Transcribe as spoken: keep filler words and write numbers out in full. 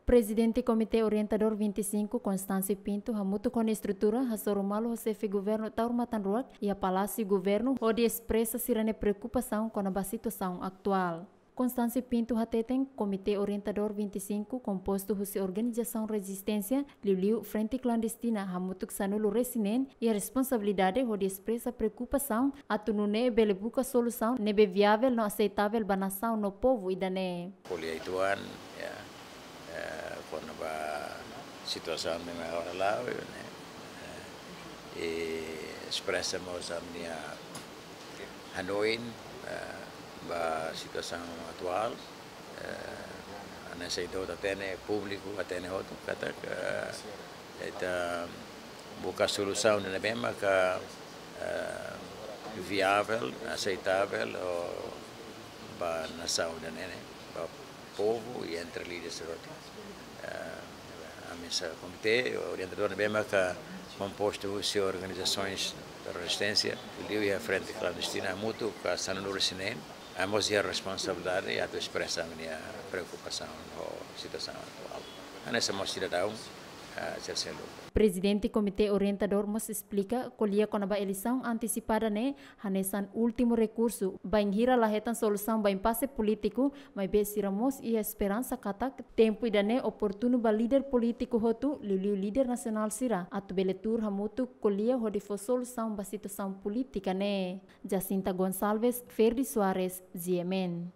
Prezidente Komité Orientadór vinte e cinco, Constâncio Pinto, hamutuk ho nia estrutura, hasoru malu ho Xefe Governu Taur Matan Ruak iha Palásiu Governu, hodi espresa sira-nia preokupasaun kona-ba situasaun atuál. Constâncio Pinto hateten, Komité Orientadór vinte e cinco, kompostu husi organizasaun rezisténsia, liuliu Frente Klandestina, hamutuk sanulu-resin-neen, iha responsabilidade hodi espresa preokupasaun atu nune'e bele buka solusaun ne'ebé viavel no aseitavel ba nasaun no povu ida-ne'e. Ko'alia uitoan, ya, eh, kona-ba situasaun ne'ebé agora la'o, ne'e, eh, i espresa mós ami-nia hanoin, eh, ba situasaun atuál, eh, hanesan ita hotu hatene, públiku hatene hotu, katak, eh, ita buka solusaun ne'ebé maka, eh, viavel, aseitavel, ho ba nasaun ida-ne'e, ba povu i entre líderes hotu. Eh, ami hanesan komité orientadór ne'ebé maka kompostu husi organizasoens rezisténsia, liuliu iha Frente Klandestina, hamutuk ho sanulu-resin-neen, ami mós iha responsabilidade atu espresa ami-nia preokupasaun ho situasaun atuál. Hanesan mós sidadaun, eh, sira seluk. Prezidente Komité Orientadór mós esplika, ko'alia kona-ba eleisaun antesipada ne'e hanesan últimu rekursu, bainhira la hetan solusaun ba impase polítiku, maibé sira mós iha esperansa katak tempu ida-ne'e oportunu ba líder polítiku hotu, liuliu líder nasionál sira, atu bele tuur hamutuk ko'alia hodi fó solusaun ba situasaun polítika ne'e. Jacinta Gonçalves, Ferdi Soares, G M N.